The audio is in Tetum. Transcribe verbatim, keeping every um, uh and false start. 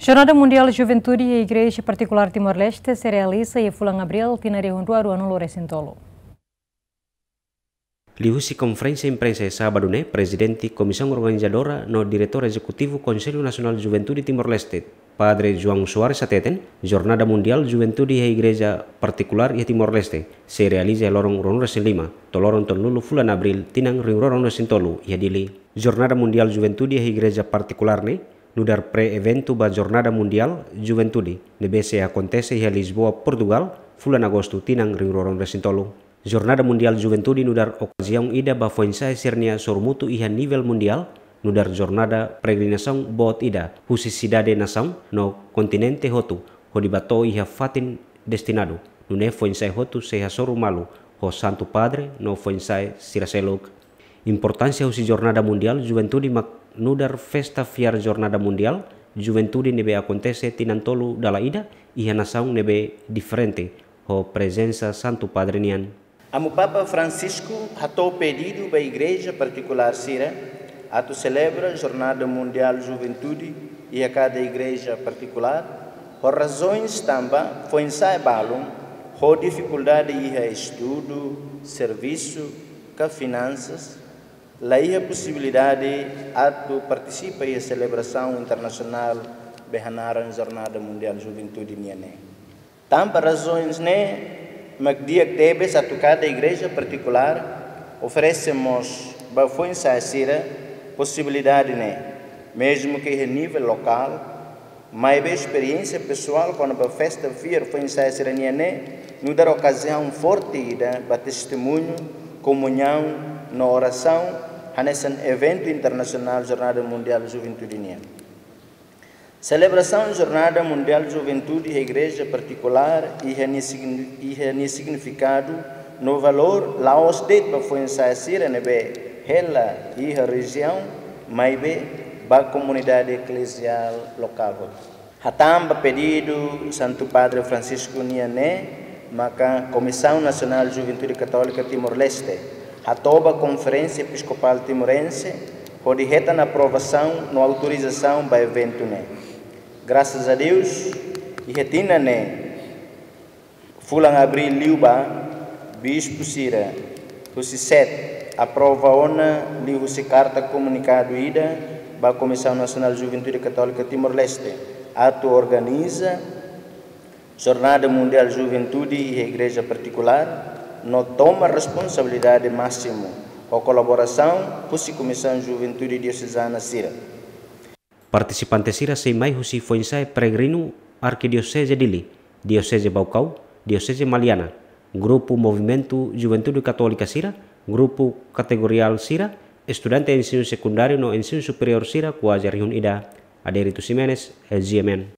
Jornada Mundiál Juventude iha Igreja Partikulár Timor-Leste sei realiza iha fulan Abríl tinan rihun rua ruanulu resin tolu. Liuhusi konferénsia imprensa iha sábadu ne'e, Prezidente Komisaun Organizadora no Diretór Ezekutivu Konsellu Nasionál Juventude Timor-Leste, Padre João Soares hateten, Jornada Mundiál Juventude iha Igreja Partikulár iha Timor-Leste sei realiza iha loron ruanulu resin lima to'o loron tolunulu fulan Abríl tinan rihun rua ruanulu resin tolu iha Dili. Jornada Mundiál Juventude iha Igreja Partikulár ne'e nu'udar pre-eventu ba Jornada Mundiál Juventude ne'ebé sei akontese iha Lisboa, Portugal, fulan Agostu tinan rihun rua ruanulu resin tolu. Jornada Mundiál Juventude nu'udar okaziaun ida ba foin-sa'e sira-nia sorumutu iha nivel mundiál, nu'udar jornada peregrinasaun boot ida husi sidade-nasaun no kontinente hotu, hodi bá to'o iha fatin destinadu, nune'e foin-sa'e hotu sei hasoru malu ho Santu Padre no foin-sa'e sira seluk. Importánsia husi Jornada Mundiál Juventude mak nu'udar festa fiar Jornada Mundiál Juventude ne'ebé akontese tinan tolu dala ida iha nasaun ne'ebé diferente, ho prezensa Santu Padre nian. Amu Papa Francisco hato'o pedidu ba igreja partikulár sira atu selebra Jornada Mundiál Juventude iha kada igreja partikulár, ho razoens tanba foin-sa'e balun ho difikuldade iha estudu, servisu, ka finansas, la iha posibilidade atu partisipa iha selebrasaun internasionál be hanaran Jornada Mundiál Juventude nian ne'e. Tanba razoens ne'e mak di'ak tebes atu kada igreja partikulár oferese mós ba foin-sa'e sira posibilidade ne'e, mezmu ke iha nivel lokál, maibé esperiénsia pesoál kona-ba festa fiar foin-sa'e sira-nian ne'e nu'udar okaziaun forte ida ba testemuñu, komuñaun no orasaun hanesan eventu internasionál Jornada Mundiál Juventude nian. Selebrasaun Jornada Mundiál Juventude iha igreja partikulár iha nia signi-, iha nia signifikadu no valór la'ós de'it ba foin-sa'e sira ne'ebé hela iha rejiaun, maibé ba komunidade ekleziál lokál hotu. Hatán ba pedidu Santu Padre Francisco nian ne'e, maka Komisaun Nasionál Juventude Katólika Timor-Leste hato'o ba Konferénsia Episkopál Timorense hodi hetan aprovasaun no autorizasaun ba eventu ne'e. Grasas a Deus, iha tinan ne'e, fulan Abríl liubá, bispu sira husi set aprova ona liuhusi karta komunikadu ida ba Komisaun Nasionál Juventude Katólika Timor-Leste atu organiza Jornada Mundiál Juventude iha igreja partikulár, no toma responsabilidade másimu ho kolaborasaun husi Komisaun Juventude Diosezana sira. Partisipante sira sei mai husi foin-sa'e peregrinu Arkidioseze Dili, Dioseze Baucau, Dioseze Maliana, grupu Movimentu Juventude Katólika sira, grupu kategoriál sira, estudante ensinu sekundáriu no ensinu superiór sira kuaze rihun ida. Adérito Ximenes, G M N.